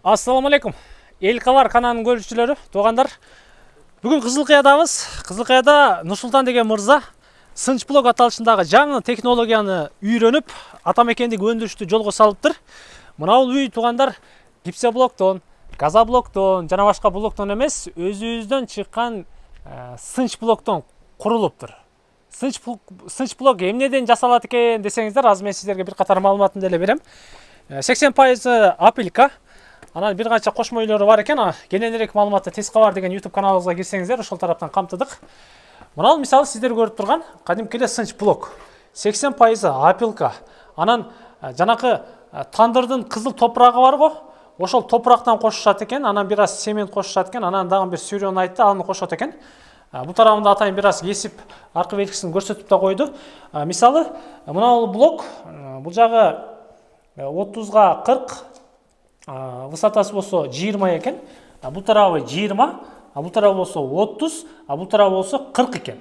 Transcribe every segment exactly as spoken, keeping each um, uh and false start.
Ассаламу алейкум. Эл кабар каналынын көрүүчүлөрү, туугандар. Бүгүн Кызылкыядабыз. Кызылкыяда Нурсултан деген мырза сынч блок аталышындагы жаңы технологияны үйрөнүп, атамекендик өндүрүштү жолго салыптыр. Мына бул үй туугандар гипсоблоктон, газоблоктон жана башка блоктон эмес, өзүбүздөн чыккан сынч блоктон курулуптур. Сынч сынч блок эмнеден жасалат экен десеңиздер, азыр мен сиздерге бир катар маалыматын деле берем. сексен пайыз апилка. Анан бир канча кошмо үйлөрү бар экен. Кененирээк маалыматты Тез кабар деген YouTube каналыбызга кирсеңиздер, ошол тараптан камтыдык. Мына мисалы сиздер көрүп турган кадимки эле сынч блок. сексен пайыз апилка. Анан жанакы тандырдын кызыл топурагы бар го. Ошол топурактан кошушат экен, анан бир аз цемент кошушат экен, анан дагы бир сүйрөнү айтты, аны кошот экен. Бул тарабында атайын бир аз кесип, аркы белгисин көрсөтүп да койду. Мисалы, мына бул блок, бул жагы отузга кырк, высотасы болсо жыйырма экен. Бул тарабы жыйырма, бул тарабы болсо отуз, бул тарабы болсо кырк экен.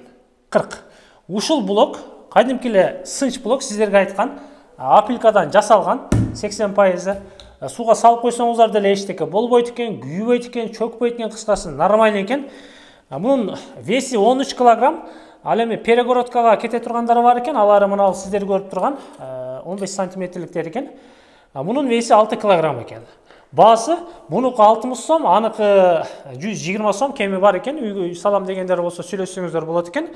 кырк. Ушул блок кадимки эле сынч блок, сиздерге айткан апилкадан жасалган сексен пайыз. Сууга салып койсоңуздар деле эчтеке болбойт экен, күйбөйт экен, чөкпөйт экен, кыскасы нормально экен. Мунун веси он үч килограмм. Ал эми перегородкага кете тургандары бар экен, алары мына сиздер көрүп турган он беш сантиметрликтер экен. Мунун веси алты килограмм экен. Баасы мунуку алтымыш сом, аныкы жүз жыйырма сом кеми бар экен. Үйгө салам дегендер болсо сүйлөшсөңүздөр болот экен.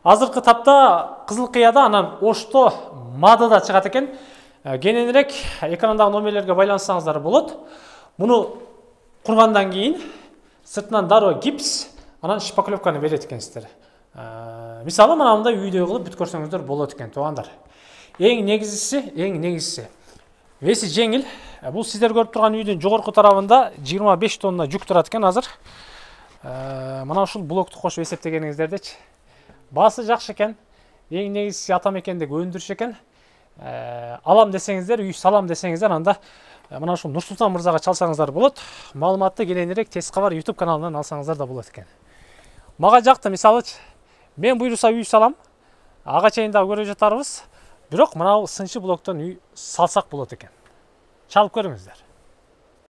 Азыркы тапта Кызылкыяда анан Ошто Мадыда чыгат экен. Кененирээк экрандагы номерлерге байлансаңыздар болот. Муну кургандан кийин сыртынан дароо гипс, анан шпаклевканы берет экенсиздер. Мисалы мына мындай үйдө кылып бүт көрсөңүздөр болот экен, туугандар. Эң негизгиси, эң негизгиси веси жеңил. Бул сиздер көрүп турган үйдүн жогорку тарабында жыйырма беш тонна жүк турат экен азыр. Мына ушул блокту кошуп эсептегениңиздердечи. Баасы жакшы экен. Эң негизгиси атамекендик өндүрүш экен. Алам десеңиздер, үй салам десеңиздер, анда мына ушул Нурсултан мырзага чалсаңыздар болот. Маалыматты кененирээк Тез кабар YouTube каналынан алсаңыздар да болот экен. Мага жакты, мисалы, мен буйруса үй салам. Ага чейин да көрүп жатарбыз. Бирок мына сынчы блоктон үй салсак болот экен. Чалып көрүңүздөр.